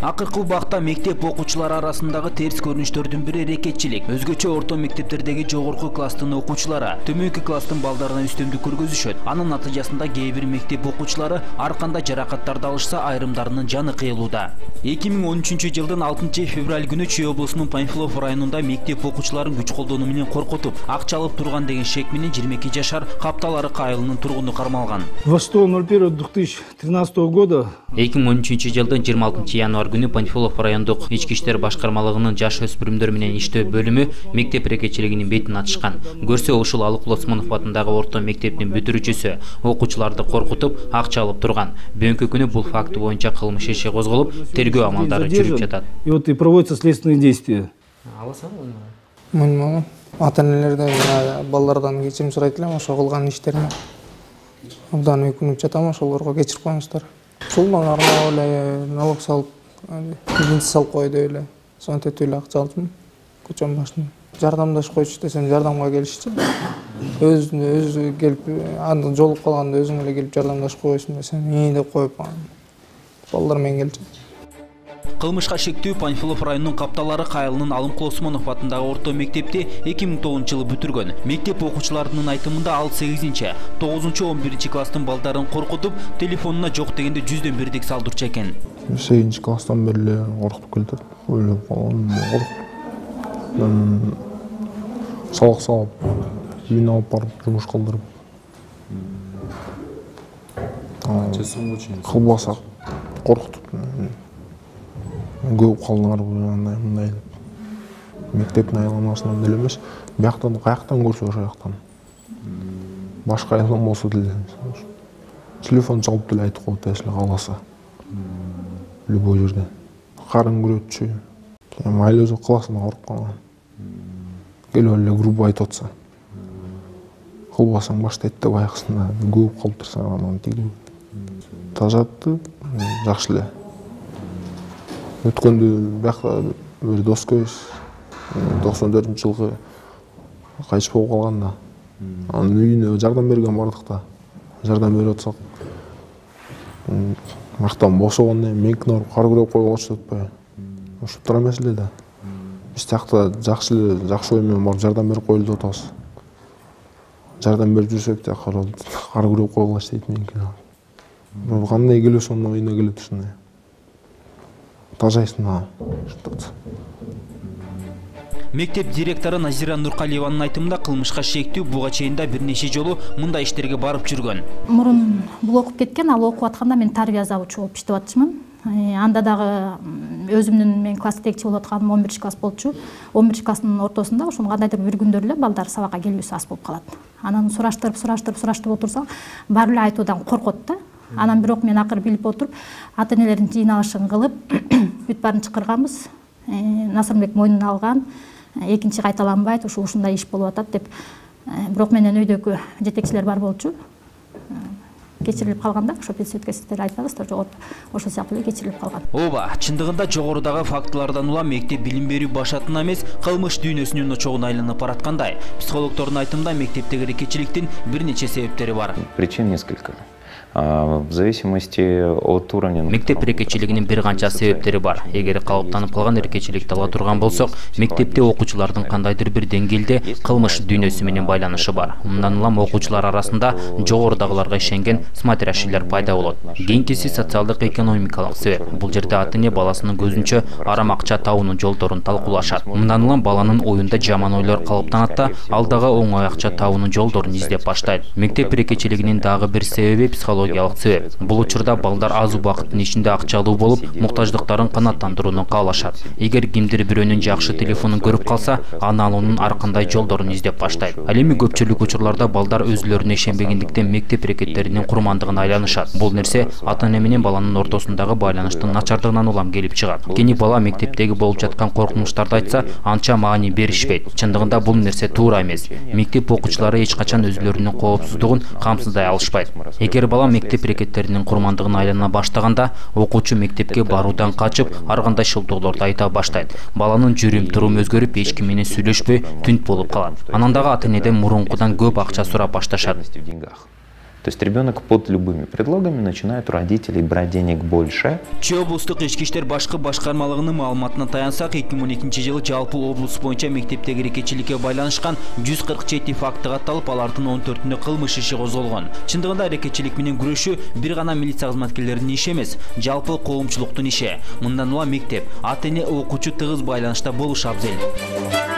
Акыркы убакта мектеп окуучулары арасындагы терс көрүнүштөрдүн бири рекетчилик. Өзгөчө орто мектептердеги жогорку класстын окуучулары төмөнкү класстын балдарына үстөмдүк көргөзүшөт. Анын натыйжасында кээ бир мектеп окуучулары ар кандай жаракаттарды алышса, айрымдарынын жаны кыйылууда. 2013 жылдын 6 февраль күнү Чүй облусунун Панфилов районунда мектеп окуучуларын күч колдонуу менен коркутуп, акча алып турган деген шек менен 22 жашар Каптал-Арык айылынын тургуну кармалган. 26.01.2013 года 2013 жылдын 26 январь күнү Панфилов райондук ички иштер башкармалыгынын жаш өспүрүмдөр менен иштөө бөлүмү мектеп рекетчилигинин бетин ачышкан. Көрсө ушул Алык Лосмонов атындагы орто мектептин бүтүрүүчүсү окуучуларды коркутуп, акча алып турган. Бүгүнкү күнү бул факт боюнча кылмыш иши козголуп, тергөө амалдары жүрүп жатат. И вот и проводятся следственные действия. Мын ата-энелерден балдардан кечирим сурайт элем, ошо кылган иштерине. Абдан өкүнүп жатам, ошолорго кечирип коюңуздар. Ушул мага арнап эле налог салып, бензин салып кой деп эле, сонтет эле акча алдым. Көчөнүн башына. Жардамдашып койчу десем, жардамга келишти. Өзү келип, аны жолуп калганда өзүң эле келип жардамдашып койсуң десем, деп коюп, балдар менен келчү. Кылмышка шектүү Панфилов районунун Каптал-Арык айылынын Алык Лосмонов атындагы орто мектепти 2009 жылы бүтүргөн. Мектеп окуучуларынын айтымында ал 8-9, 11 класстын балдарын коркутуп, телефонуна жок дегенде 100дөн бирдик салдырчу экен. 8 класстан бери эле коркутуп келатат. Ойлоп калган, сабак салып, үйүнө алып барып жумуш кылдырып. Кылбаса коркутуп. Көп калдыңар мындай деп. Мектептин айламасынан деле эмес, бияктан каяктан көрсө ошол жактан. Башка айылдан болсо деле телефон чалып деле айтып коет, если кааласа. Любой жерден. Карын көрөтчү. Майыл өзү классына корккан. Келип эле грубо айтып атса. Кылбасаң баштайт деп аяксында көп калып турса анан тигип. Тажатты, жакшы эле. Өткөндө биякта бир дос көбүз 94-жылкы кайтыш болуп калганда анын үйүнө жардам берген бардык да. Жардам берип атсак мактан бошогондон кийин меникине барып кар күрөп койгочу атпайбы. Ушул тура эмес эле да. Биз тиякта жакшы ой менен барып жардам берип коелу деп атабыз. Жардам берип жүрсөк да кар күрөп койгулачы дейт меникине. Кандай келесиң анын оюна келет ушундай. Мектеп директору Назира Нуркалиеванын айтымында кылмышка шектүү буга чейин да бир нече жолу мындай иштерге барып жүргөн. Мурун бул окуп кеткен, ал окуп атканда мен тарбия завучу болуп иштеп атчымын. Анда дагы өзүмдүн мен класс жетекчи болуп атканым 11 класс болчу. 11 класстын ортосунда ошону кандайдыр бир күндөр эле балдар сабакка келүүсү аз болуп калат. Анан сураштырып отурсак, баары эле айтуудан коркот да. Анан бирок мен акыр билип отуруп, ата-энелердин жыйналышын кылып, бүт баарын чакырганбыз. Насырбек мойнуна алган, экинчи кайталанбайт, ушундай иш болуп атат деп. Бирок менен өйдөгү жетекчилер бар болчу. Кечирилип калганда, ошо бес өткөзүлөр айтпаңыздар, жогору ошо сыяктуу эле кечирилип калган. Ооба, чындыгында жогорудагы фактылардан улам мектеп билим берүү башатына эмес, кылмыш дүйнөсүнүн очогуна айланып бараткандай. Психологдордун айтымында мектептеги рекетчиликтин бир нече себептери бар. Причин несколько. В зависимости от уровня. Мектеп рекетчилигинин бир канча себептери бар. Эгер калыптанып калган рекетчиликти ала турган болсок, мектепте окуучулардын кандайдыр бир деңгээлде кылмыш дүйнөсү менен байланышы бар. Мындан улам окуучулар арасында жогорудагыларга ишенген смотрящийлер пайда болот. Кийинкиси социалдык экономикалык себеп. Бул жерде ата-эне баласынын көзүнчө арам акча табуунун жолдорун талкуулашат. Мындан улам баланын оюнда жаман ойлор калыптанат да, ал дагы оңой акча табуунун жолдорун издеп баштайт. Мектеп рекетчилигинин дагы бир себеби психологиялык себеп. Бул учурда балдар аз убакыттын ичинде акчалуу болуп, муктаждыктарын канааттандырууну каалашат. Эгер кимдир бирөөнүн жакшы телефонун көрүп калса, аны алуунун ар кандай жолдорун издеп баштайт. Ал эми көпчүлүк учурларда балдар өзүлөрүнө ишенбегендиктен мектеп рекеттеринин курмандыгына айланышат. Бул нерсе ата-эне менен баланын ортосундагы байланыштын начардыгынан улам келип чыгат. Кийин бала мектептеги болуп жаткан коркунучтарды айтса, анча маани беришпейт. Чындыгында бул нерсе туура эмес. Мектеп окуучулары эч качан өзүлөрүнүн коопсуздугун камсыздай алышпайт. Эгер бала мектеп рекеттеринин курмандыгына айлана баштаганда, окуучу мектепке баруудан качып, ар кандай шылтоолорду айта баштайт. Баланын жүрүм-турум өзгөрүп, эч ким менен сүйлөшпөй, түнт болуп калат. Анан дагы ата-энеден мурункудан көп акча сурап башташат. То есть ребенок под любыми предлогами начинает у родителей брать денег больше. Чүй облустук ички иштер башкы башкармалыгынын маалыматына таянсак, 2012-жылы жалпы облус боюнча мектептеги эркечиликке байланышкан 147 факты катталып, алардын 14-үндө кылмыш иши козголгон. Чындыгында эркечилик менен күрөшүү бир гана милиция кызматкерлеринин иши эмес, жалпы коомчулуктун иши. Мындан улам мектеп, ата-эне, окуучу тыгыз байланышта болушу абзел.